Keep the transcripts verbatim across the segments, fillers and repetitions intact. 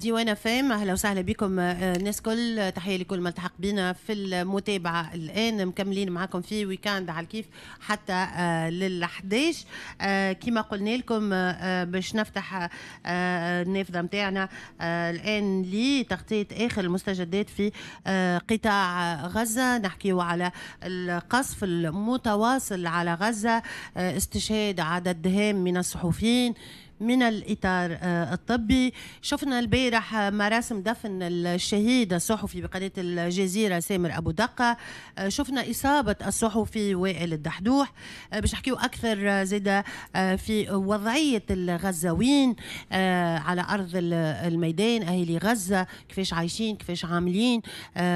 ديوان فام. اهلا وسهلا بكم الناس كل، تحية لكل ما التحق بنا في المتابعة الان. مكملين معكم في week-end على الكيف حتى لل أحد عشر. كما قلنا لكم باش نفتح النافذة نتاعنا الان لتغطيه اخر المستجدات في قطاع غزه. نحكيو على القصف المتواصل على غزه، استشهاد عدد هام من الصحفيين من الإطار الطبي. شفنا البارح مراسم دفن الشهيد الصحفي بقناة الجزيرة سامر أبو دقة، شفنا إصابة الصحفي وائل الدحدوح. باش نحكيو أكثر زادة في وضعية الغزاوين على أرض الميدان، أهالي غزة كيفاش عايشين، كيفاش عاملين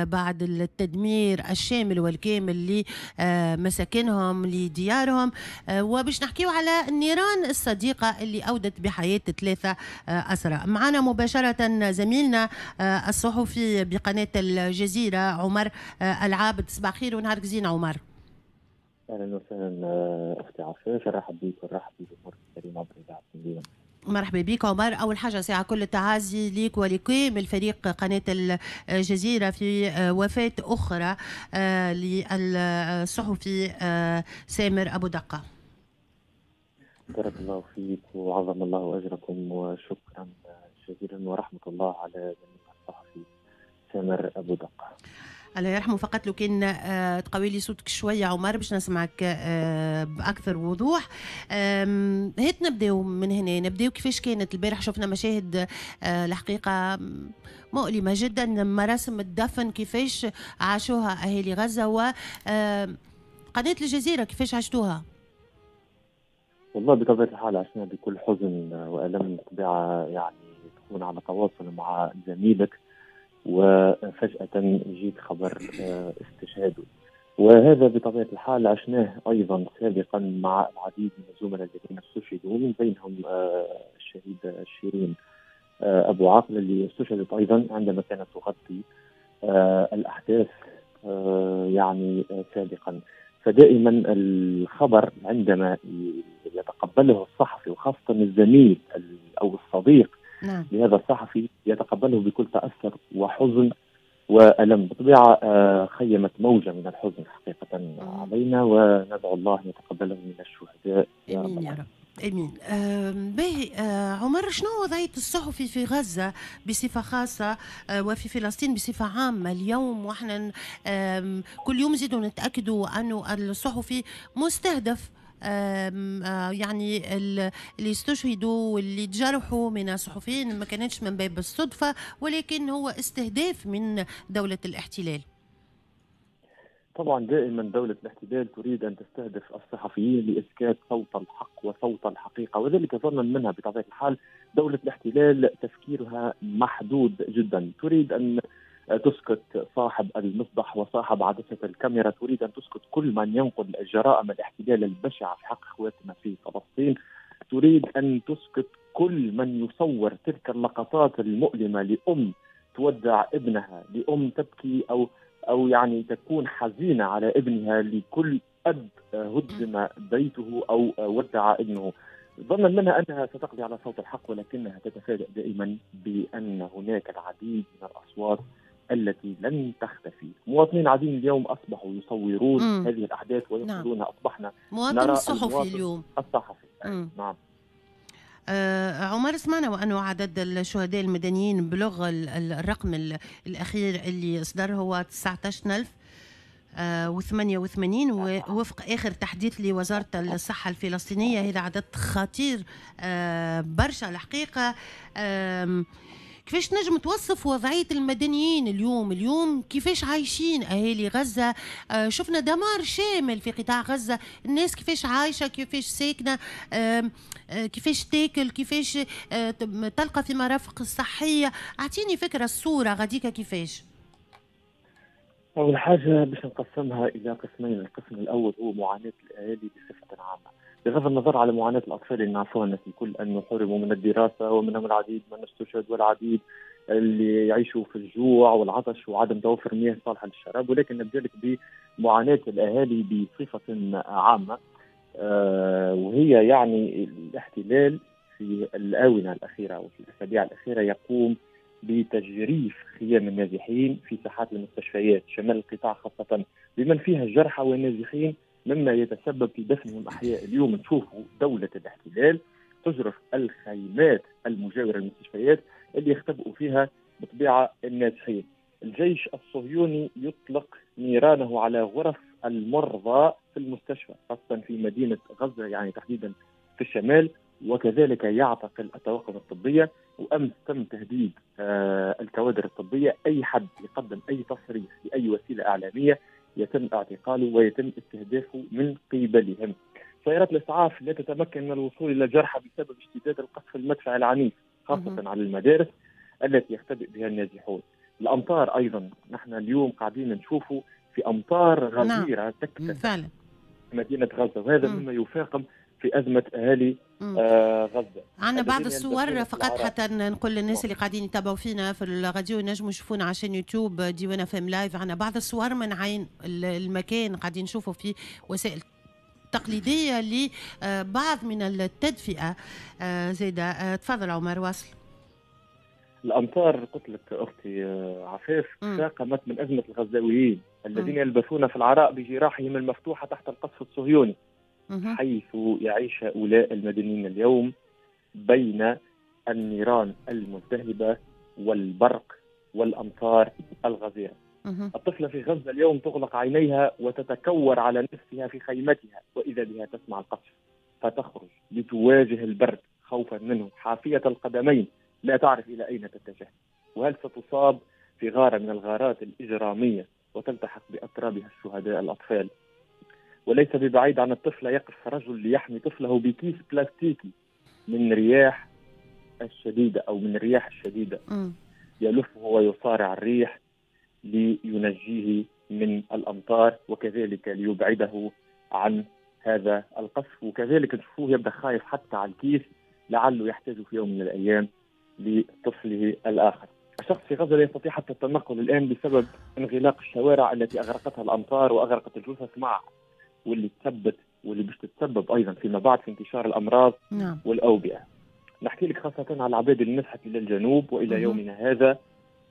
بعد التدمير الشامل والكامل لمساكنهم لديارهم، وباش نحكيو على النيران الصديقة اللي أودت بحياة ثلاثة أسرى. معنا مباشرة زميلنا الصحفي بقناة الجزيرة عمر العابد. صباح خير ونهارك زين عمر. أهلا وسهلا أختي عفاف، نرحب بك ونرحب بجمهور الكريم عبر إذاعة مدينة. مرحبا بك عمر. أول حاجة ساعة كل التعازي ليك ولكامل فريق قناة الجزيرة في وفاة أخرى للصحفي سامر أبو دقة. بارك الله فيك وعظم الله أجركم، وشكرا جزيلا ورحمة الله على زميلنا الصحفي سامر أبو دقة. الله يرحمه. فقط لو كان تقوي لي صوتك شوية عمر باش نسمعك بأكثر وضوح. هات نبداو من هنا، نبداو كيفاش كانت البارح. شفنا مشاهد الحقيقة مؤلمة جدا، مراسم الدفن كيفاش عاشوها أهالي غزة، وقناة الجزيرة كيفاش عشتوها؟ والله بطبيعة الحال عشنا بكل حزن وألم. طبيعة يعني تكون على تواصل مع زميلك وفجأة يجيك خبر استشهاده، وهذا بطبيعة الحال عشناه أيضا سابقا مع العديد من الزملاء الذين استشهدوا، ومن بينهم الشهيد شيرين أبو عاقل اللي استشهدت أيضا عندما كانت تغطي الأحداث يعني سابقا. فدائما الخبر عندما يتقبله الصحفي وخاصة الزميل أو الصديق نعم. لهذا الصحفي يتقبله بكل تأثر وحزن وألم. بطبيعة خيمت موجة من الحزن حقيقة علينا، وندعو الله أن يتقبله من الشهداء يا رب. يا رب امين. باهي عمر، شنو وضعية الصحفي في غزة بصفة خاصة وفي فلسطين بصفة عامة اليوم؟ واحنا كل يوم نزيدوا نتاكدوا انه الصحفي مستهدف، يعني اللي استشهدوا واللي تجرحوا من الصحفيين ما كانتش من باب الصدفة، ولكن هو استهداف من دولة الاحتلال. طبعا دائما دولة الاحتلال تريد أن تستهدف الصحفيين لإسكات صوت الحق وصوت الحقيقة، وذلك ظنا منها بطبيعة الحال. دولة الاحتلال تفكيرها محدود جدا، تريد أن تسكت صاحب المصباح وصاحب عدسة الكاميرا، تريد أن تسكت كل من ينقل جرائم الاحتلال البشعة في حق إخواتنا في فلسطين، تريد أن تسكت كل من يصور تلك اللقطات المؤلمة لأم تودع ابنها، لأم تبكي أو أو يعني تكون حزينة على ابنها، لكل أب هدم بيته أو ودع ابنه. ظنا منها أنها ستقضي على صوت الحق، ولكنها تتفاجأ دائما بأن هناك العديد من الأصوات التي لن تختفي. مواطنين عديد اليوم أصبحوا يصورون مم. هذه الأحداث وينقلونها. نعم. أصبحنا مواطن نرى الصحفي اليوم الصحفي. مم. نعم. آه عمر، سمعنا وأنه عدد الشهداء المدنيين بلغ الرقم الأخير اللي صدر هو تسعة عشر ألف وثمانية وثمانين، ووفق آخر تحديث لوزارة الصحة الفلسطينية. هذا عدد خطير آه برشا الحقيقة. آه كيفاش نجم توصف وضعية المدنيين اليوم؟ اليوم كيفاش عايشين أهالي غزة؟ آه شفنا دمار شامل في قطاع غزة، الناس كيفاش عايشة، كيفاش ساكنة، آه آه كيفاش تاكل، كيفاش آه تلقى في مرافق الصحية. أعطيني فكرة الصورة غاديكا كيفاش. أول حاجة باش نقسمها إلى قسمين، القسم الأول هو معاناة الأهالي بصفة عامة، بغض النظر على معاناة الأطفال اللي نعرفوها الناس الكل أنه حرموا من الدراسة، ومنهم العديد من استشهد والعديد اللي يعيشوا في الجوع والعطش وعدم توفر مياه صالحة للشراب، ولكن نبدأ لك بمعاناة الأهالي بصفة عامة، آه وهي يعني الاحتلال في الآونة الأخيرة وفي الأسابيع الأخيرة يقوم بتجريف خيام النازحين في ساحات المستشفيات شمال القطاع خاصة بمن فيها الجرحى والنازحين، مما يتسبب في دفنهم أحياء. اليوم نشوفوا دولة الاحتلال تجرف الخيمات المجاورة للمستشفيات اللي يختبئوا فيها بطبيعة النازحين. الجيش الصهيوني يطلق نيرانه على غرف المرضى في المستشفى خاصة في مدينة غزة، يعني تحديدا في الشمال، وكذلك يعتقل الطواقم الطبية. وأمس تم تهديد آه الكوادر الطبية، أي حد يقدم أي تصريح لأي وسيلة إعلامية يتم اعتقاله ويتم استهدافه من قبلهم. سيارات الإسعاف لا تتمكن من الوصول إلى الجرحى بسبب اشتداد القصف المدفعي العنيف خاصة على المدارس التي يختبئ بها النازحون. الأمطار أيضا، نحن اليوم قاعدين نشوفوا في أمطار غزيرة نعم. تكتسح مدينة غزة، وهذا مما يفاقم في أزمة أهالي آه غزة. عندنا بعض الصور فقط حتى نقول للناس اللي قاعدين يتابعوا فينا في الراديو ينجموا يشوفونا عشان يوتيوب ديوان اف ام live. عندنا بعض الصور من عين المكان قاعدين نشوفوا في وسائل تقليدية لبعض من التدفئة آه زيادة. آه تفضل عمر واصل. الأمطار قلت لك أختي عفاف فاقمت من أزمة الغزاويين الذين يلبثون في العراء بجراحهم المفتوحة تحت القصف الصهيوني، حيث يعيش هؤلاء المدنيين اليوم بين النيران الملتهبة والبرق والأمطار الغزيرة. الطفلة في غزة اليوم تغلق عينيها وتتكور على نفسها في خيمتها، وإذا بها تسمع القصف فتخرج لتواجه البرد خوفا منه، حافية القدمين لا تعرف إلى أين تتجه، وهل ستصاب في غارة من الغارات الإجرامية وتلتحق بأترابها الشهداء الأطفال. وليس ببعيد عن الطفلة يقف رجل ليحمي طفله بكيس بلاستيكي من رياح الشديدة أو من الرياح الشديدة، يلفه ويصارع الريح لينجيه من الأمطار وكذلك ليبعده عن هذا القصف. وكذلك نشوفوه يبدأ خايف حتى على الكيس لعله يحتاج في يوم من الأيام لطفله الآخر. الشخص في غزة لا يستطيع حتى التنقل الآن بسبب انغلاق الشوارع التي أغرقتها الأمطار وأغرقت الجثث معها، واللي تثبت واللي باش تتسبب أيضا فيما بعد في انتشار الأمراض نعم. والأوبئة. نحكي لك خاصة على العباد اللي نزحت إلى الجنوب، وإلى مه. يومنا هذا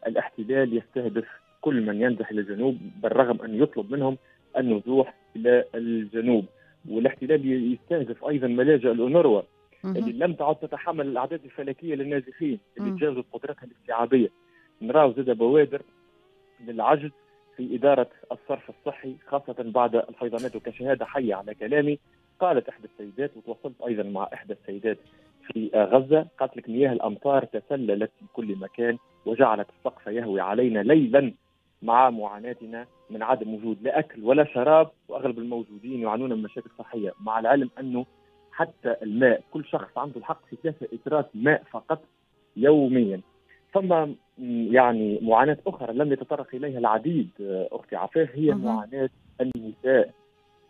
الاحتلال يستهدف كل من ينزح إلى الجنوب بالرغم أن يطلب منهم النزوح إلى الجنوب. والاحتلال يستهدف أيضا ملاجئ الأونروا اللي لم تعد تتحمل الأعداد الفلكية للنازحين اللي تجاوزت قدرتها الاستيعابية. نراو زاد بوادر للعجز في إدارة الصرف الصحي خاصة بعد الفيضانات. وكشهادة حية على كلامي قالت إحدى السيدات، وتواصلت أيضا مع إحدى السيدات في غزة، قالت لك مياه الأمطار تسللت في كل مكان وجعلت السقف يهوي علينا ليلا مع معاناتنا من عدم وجود لا أكل ولا شراب، وأغلب الموجودين يعانون من مشاكل صحية، مع العلم أنه حتى الماء كل شخص عنده الحق في ثلاثة إترات ماء فقط يوميا. ثم يعني معاناة أخرى لم يتطرق إليها العديد أختي عفاف، هي معاناة النساء.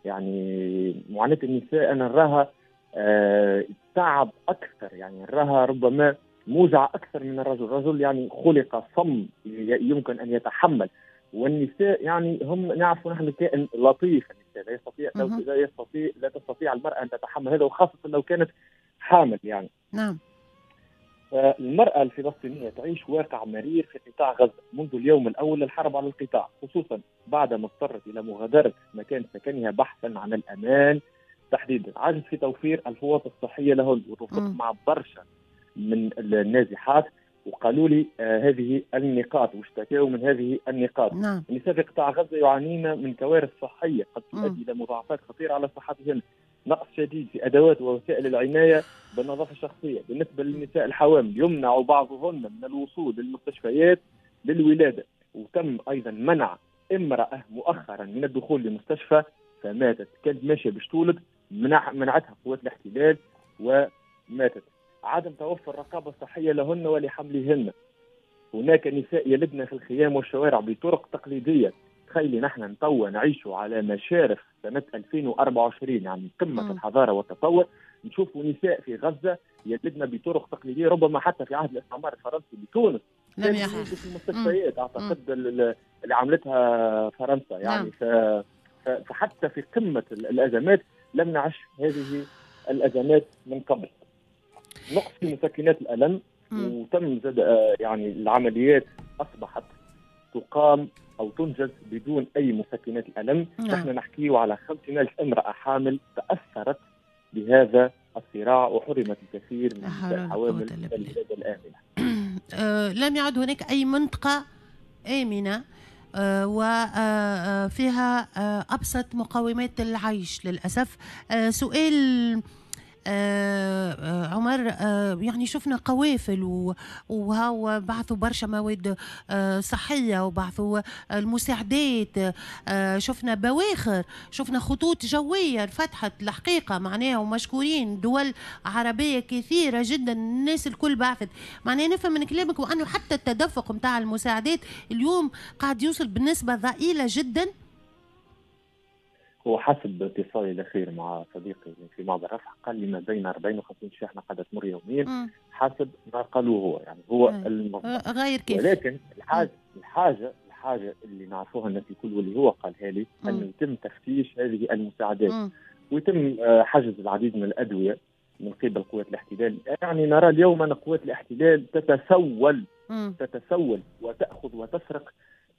يعني معاناة النساء أنا نراها آه تعب أكثر، يعني نراها ربما موجعة أكثر من الرجل. الرجل يعني خلق صم يمكن أن يتحمل، والنساء يعني هم نعرف نحن كائن لطيف. النساء لا يستطيع لا يستطيع لا تستطيع المرأة أن تتحمل هذا، وخاصة لو كانت حامل يعني. نعم. المرأة الفلسطينية تعيش واقع مرير في قطاع غزة منذ اليوم الأول للحرب على القطاع، خصوصا بعدما اضطرت إلى مغادرة مكان سكنها بحثا عن الأمان تحديدا. عجز في توفير الفوط الصحية لهن، وتوافقت مع برشا من النازحات وقالوا لي آه هذه النقاط واشتكوا من هذه النقاط. نعم. النساء في قطاع غزة يعانين من كوارث صحية قد تؤدي إلى مضاعفات خطيرة على صحتهن، نقص شديد في أدوات ووسائل العناية بالنظافة الشخصية. بالنسبة للنساء الحوامل يمنع بعضهن من الوصول للمستشفيات للولادة، وتم أيضا منع امرأة مؤخرا من الدخول لمستشفى فماتت، كانت ماشية باش تولد منع منعتها قوات الاحتلال وماتت. عدم توفر رقابة صحية لهن ولحملهن. هناك نساء يلدن في الخيام والشوارع بطرق تقليدية. تخيلي نحن توا نعيش على مشارف سنة ألفين وأربعة وعشرين، يعني قمة م. الحضارة والتطور، نشوف نساء في غزة يلدن بطرق تقليدية ربما حتى في عهد الاستعمار الفرنسي بتونس لم يحدث في المستشفيات. أعتقد اللي عملتها فرنسا يعني. ف... فحتى في قمة الأزمات لم نعش هذه الأزمات من قبل. نقص في مسكنات الألم، وتم زاد يعني العمليات أصبحت تقام أو تنجز بدون أي مسكنات الألم. نحن نحكي على خمسين ألف امرأة حامل تأثرت بهذا الصراع وحرمت الكثير من الحوامل الولادة الآمنة. لم يعد هناك أي منطقة آمنة وفيها أبسط مقومات العيش للأسف. سؤال عمر، يعني شفنا قوافل وهاو بعثوا برشا مواد صحية وبعثوا المساعدات، شفنا بواخر، شفنا خطوط جوية فتحت الحقيقة معناها، ومشكورين دول عربية كثيرة جدا، الناس الكل بعثت. معناها نفهم من كلامك وأنه حتى التدفق متاع المساعدات اليوم قاعد يوصل بنسبة ضئيلة جدا. هو حسب اتصالي الاخير مع صديقي في معبر رفح قال لي ما بين أربعين وخمسين شاحنة قاعدة تمر يوميا حسب ما قالوه هو، يعني هو المصدر غير كيف. ولكن الحاجة الحاجة الحاجة اللي نعرفوها الناس الكل واللي هو قالها لي انه يتم تفتيش هذه المساعدات مم. ويتم حجز العديد من الادوية من قبل قوات الاحتلال. يعني نرى اليوم ان قوات الاحتلال تتسول مم. تتسول وتاخذ وتسرق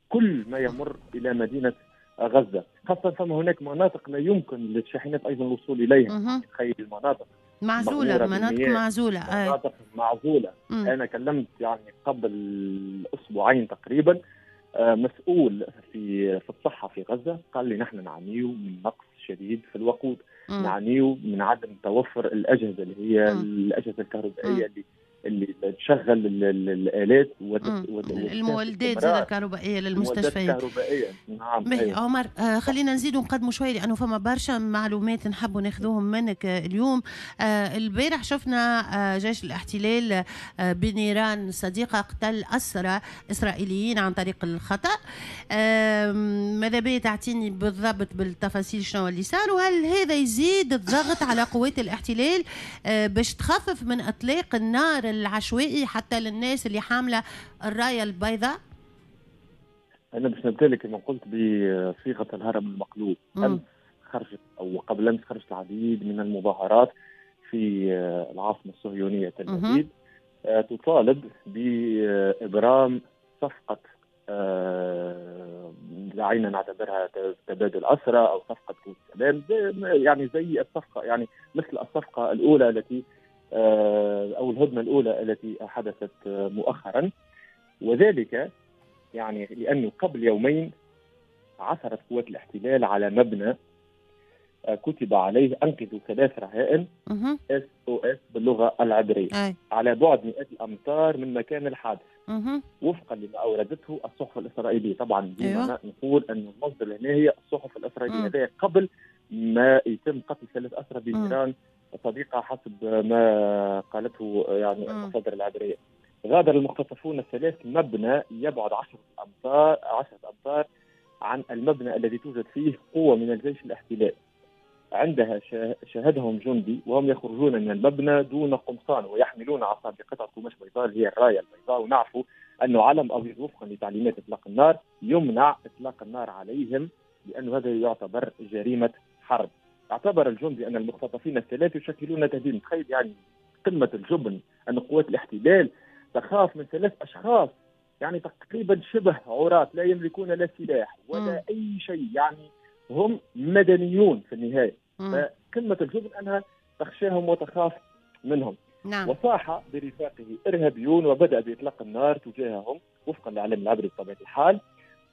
كل ما يمر الى مدينة غزة، خاصة فما هناك مناطق لا يمكن للشاحنات أيضا الوصول إليها. تخيل المناطق معزولة، مناطق معزولة، مناطق معزولة. مم. أنا كلمت يعني قبل أسبوعين تقريبا مسؤول في في الصحة في غزة، قال لي نحن نعاني من نقص شديد في الوقود، نعاني من عدم توفر الأجهزة اللي هي مم. الأجهزة الكهربائية اللي اللي تشغل الآلات وت... وت... المولدات زاد الكهربائية للمستشفيات الكهربائية. نعم. أيوة. عمر، آه خلينا نزيد ونقدموا شوي لأنه فما برشا معلومات نحبوا ناخذوهم منك آه اليوم. آه البارح شفنا آه جيش الاحتلال آه بنيران صديقة قتل أسرى إسرائيليين عن طريق الخطأ. آه ماذا بي تعطيني بالضبط بالتفاصيل شنو اللي صار، وهل هذا يزيد الضغط على قوات الاحتلال آه باش تخفف من إطلاق النار العشوائي حتى للناس اللي حاملة الراية البيضاء؟ أنا باش نبدأ لك كما قلت بصيغة الهرم المقلوب. أمس خرجت أو قبل أمس خرجت العديد من المظاهرات في العاصمة الصهيونية تل أبيب تطالب بإبرام صفقة دعينا نعتبرها تبادل أسرى أو صفقة سلام، يعني زي الصفقة، يعني مثل الصفقة الأولى التي أو الهدنة الأولى التي حدثت مؤخرا. وذلك يعني لأنه قبل يومين عثرت قوات الاحتلال على مبنى كتب عليه أنقذوا ثلاث رهائن إس أو إس باللغة العبرية أي. على بعد مئات الأمتار من مكان الحادث وفقا لما أوردته الصحف الإسرائيلية. طبعا أيوه. نقول أن المصدر هنا هي الصحف الإسرائيلية، هذا قبل ما يتم قتل ثلاث أسرى بنيران صديقة حسب ما قالته يعني المصادر العبرية. غادر المختطفون الثلاث مبنى يبعد عشرة أمتار عشرة أمتار عن المبنى الذي توجد فيه قوة من الجيش الاحتلال. عندها شاهدهم جندي وهم يخرجون من المبنى دون قمصان ويحملون عصا بقطعة قماش بيضاء اللي هي الراية البيضاء، ونعرف أنه علم أبيض وفقا لتعليمات إطلاق النار يمنع إطلاق النار عليهم لأنه هذا يعتبر جريمة حرب. اعتبر الجندي أن المختطفين الثلاث يشكلون تهديد. تخيل يعني قمة الجبن أن قوات الاحتلال تخاف من ثلاث أشخاص يعني تقريبا شبه عراة لا يملكون لا سلاح ولا م. أي شيء، يعني هم مدنيون في النهاية. فقمة الجبن أنها تخشاهم وتخاف منهم. نعم. وصاح برفاقه إرهابيون وبدأ بإطلاق النار تجاههم وفقا للإعلام العبري بطبيعة الحال.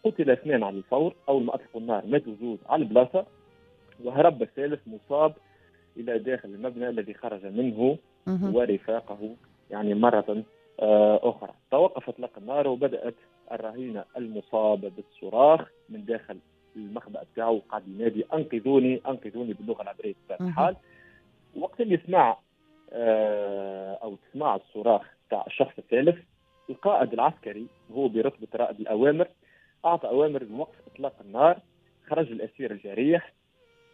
قتل اثنان على الفور، أول ما أطلقوا النار ماتوا زوج على البلاصة، وهرب الثالث مصاب إلى داخل المبنى الذي خرج منه ورفاقه يعني مرة أخرى. توقف إطلاق النار وبدأت الرهينة المصاب بالصراخ من داخل المخبأ بتاعه وقعد ينادي أنقذوني أنقذوني باللغة العبرية بطبيعة الحال. وقت اللي سمع أو تسمع الصراخ بتاع الشخص الثالث، القائد العسكري هو برتبة رائد الأوامر أعطى أوامر بوقف إطلاق النار. خرج الأسير الجريح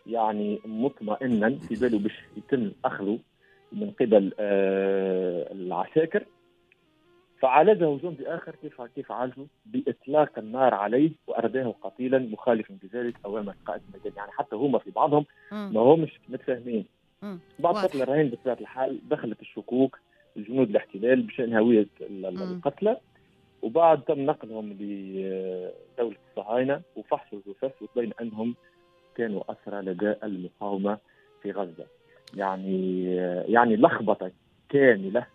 يعني مطمئنا في باله باش يتم أخذه من قبل آه العساكر، فعالجه جندي آخر. كيف كيف عالجه؟ بإطلاق النار عليه وأرداه قتيلا مخالفا بذلك أوامر القائد الميداني. يعني حتى هما في بعضهم ما همش متفاهمين. بعد قتل الرهين بطبيعة الحال دخلت الشكوك جنود الاحتلال بشأن هوية القتلى، وبعد تم نقلهم لدولة الصهاينة وفحصوا الجثث وتبين أنهم كانوا أسرى لدى المقاومة في غزة. يعني يعني لخبطة كاملة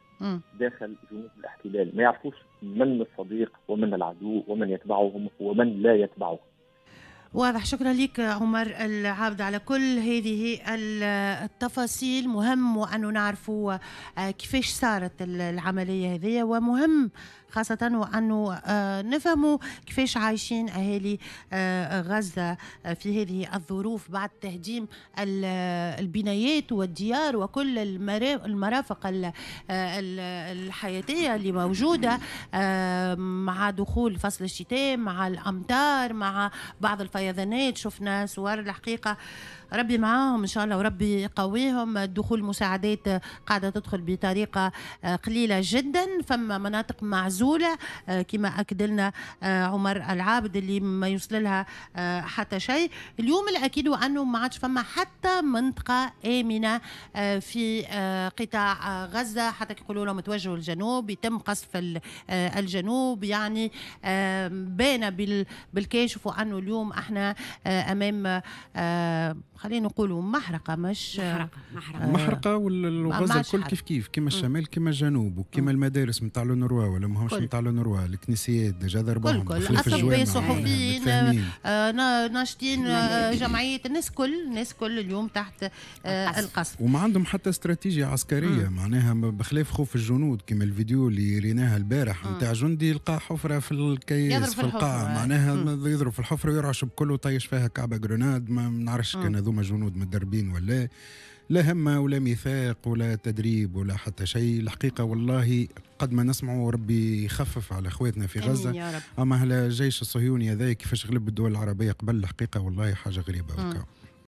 داخل جنود الاحتلال، ما يعرفوش من الصديق ومن العدو ومن يتبعهم ومن لا يتبعهم. واضح. شكرا لك عمر العابد على كل هذه التفاصيل. مهم وأنه نعرفوا كيفاش صارت العملية هذه، ومهم خاصة وأنه نفهموا كيفاش عايشين أهالي غزة في هذه الظروف بعد تهديم البنايات والديار وكل المرافق الحياتية اللي موجودة مع دخول فصل الشتاء، مع الأمطار، مع بعض الفيضانات. شفنا صور الحقيقة، ربي معاهم إن شاء الله وربي يقويهم. دخول مساعدات قاعدة تدخل بطريقة قليلة جدا، فما مناطق معزولة كما أكد لنا عمر العابد اللي ما يوصل لها حتى شيء. اليوم الأكيد أنه ما عادش فما حتى منطقة آمنة في قطاع غزة، حتى يقولوا لهم توجهوا الجنوب، يتم قصف الجنوب. يعني بان بالكاشف وأنه اليوم احنا أمام خلينا نقولوا محرقة، مش محرقة محرقة, محرقة والغزة الكل كيف كيف، كما الشمال كما الجنوب، وكما المدارس نتاع l'UNRWA ولا ماهمش نتاع l'UNRWA، الكنيسيات déjà ضربوهم، كل كل اطباء، صحفيين، آه، ناشطين، آه، جمعية، الناس كل الناس كل اليوم تحت آه، القصف، وما عندهم حتى استراتيجية عسكرية. مم. معناها بخلاف خوف الجنود كما الفيديو اللي ريناها البارح نتاع جندي لقى حفره في الكيس في القاع، معناها يضرب في الحفرة ويرعش بكله وطيش فيها كعبه grenade. ما نعرفش كان هذوما جنود متدربين ولا لا، همة ولا ميثاق ولا تدريب ولا حتى شيء. الحقيقة والله قد ما نسمعوا ربي يخفف على اخواتنا في غزة، يا رب. اما الجيش الصهيوني هذا كيفاش غلب الدول العربية قبل، الحقيقة والله حاجة غريبة.